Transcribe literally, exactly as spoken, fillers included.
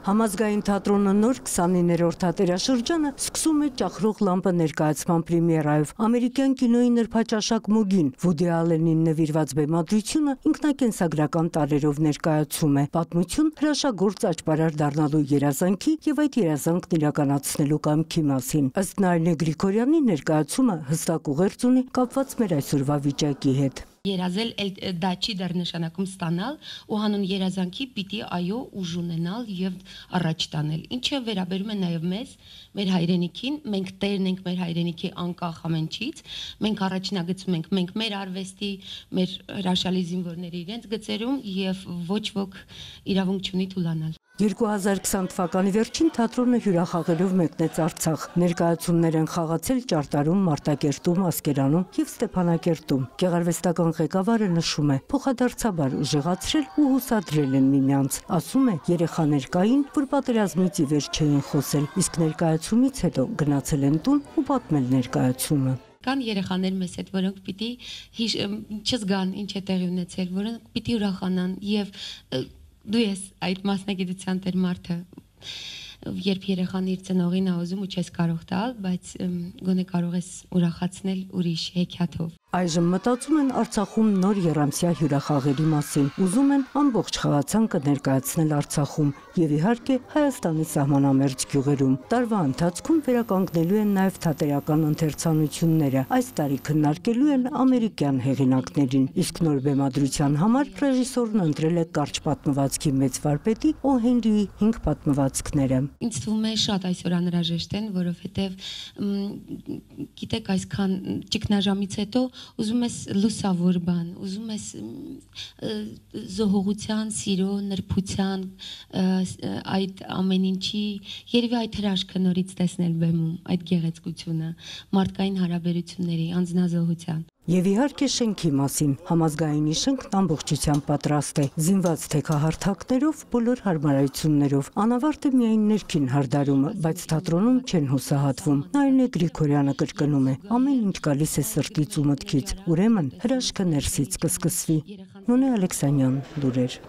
Համազգային թատրոնը նոր քսանիններորդ թատերաշրջանը սկսում է ճախրող լամպը ներկայացման պրեմիերայով։ Ամերիկյան կինոյի նրբաճաշակ մոգին Վուդի Ալենին նվիրված բեմադրությունը ինքնակենսագրական տարրերով ներկայացում է պատմություն հրաշագործ աճպարար դառնալու երազանքի եւ այդ երազանքն իրականացնելու կամքի մասին։ Ըստ Նարինե Գրիգորյանի ներկայացումը հստակ ուղերձ ունի կապված մեր այսօրվա վիճակի հետ։ Երազել դա չի դեռ նշանակում ստանալ ու հանուն երազանքի պիտի այո ուժ ունենալ եւ առաջ տանել, ինչը վերաբերում է նաեւ մեզ, մեր հայրենիքին, մենք տերն ենք մեր հայրենիքի անկախ ամենից, մենք առաջնագծում ենք մենք մեր արվեստի, մեր հրաշալի զինվորների իրենց գծերում եւ ոչ ոք իրավունք չունի թուլանալ։ երկու հազար քսան թվականի վերջին թատրոնը հյուրախաղերով մեկնեց Արցախ։ Ներկայացումներ են խաղացել Ճարտարում, Մարտակերտում, Ասկերանում եւ Ստեփանակերտում։ Գեղարվեստական ղեկավարը նշում է, փոխադարձաբար ուժեղացրել ու հուսադրել են միմյանց։ Ասում է, երեխաներ կային, որ պատերազմից ի վեր չէին խոսել, իսկ ներկայացումից հետո գնացել են տուն ու պատմել ներկայացումը։ Կան երեխաներ մեզ հետ, որոնք պիտի չզգան ինչ է տեղի ունեցել, որոնք պիտի ուրախանան եւ դու ես այդ մասնագիտության տեր մարդը, երբ երեխան իր ծնողին ա ուզում ու չես կարող տալ, բայց գոնե կարող ես ուրախացնել ուրիշ հեքիաթով։ Այժմ մտածում են Արցախում նոր եռամսյա հյուրախաղերի մասին, ուզում են ամբողջ խաղացանկը ներկայացնել Արցախում եւ իհարկե Հայաստանի սահմանամերձ գյուղերում։ Տարվա ընթացքում վերականգնելու են նաեւ թատերական ընթերցանությունները, այս տարի քննարկելու են ամերիկյան հեղինակներին, իսկ նոր բեմադրության համար ռեժիսորն ընտրել է կարճ պատմվածքի մեծ վարպետի Օ Հենրիի հինգ պատմվածքները։ Ինձ թվում է շատ այսօր անհրաժեշտ են, որովհետև գիտեք այսքան ճգնաժամից հետո ուզում ես լուսավոր բան, ուզում ես զոհողության, սիրո, նրբության, այդ ամեն ինչի, երևի այդ հրաշքը նորից տեսնել բեմում, այդ գեղեցկությունը, մարդկային հարաբերությունների, անձնազոհության։ Եվ իհարկե շենքի մասին, համազգայինի շենքն ամբողջությամբ պատրաստ է, զինված թեքահարթակներով, բոլոր հարմարություններով, անավարտ է միայն ներքին հարդարումը, բայց թատրոնում չեն հուսահատվում։ Նարինե Գրիգորյանը կրկնում է, ամեն ինչ գալիս է սրտից ու մտքից, ուրեմն հրաշքը ներսից կսկսվի։ Նոնե Ալեքսանյան, լուրեր։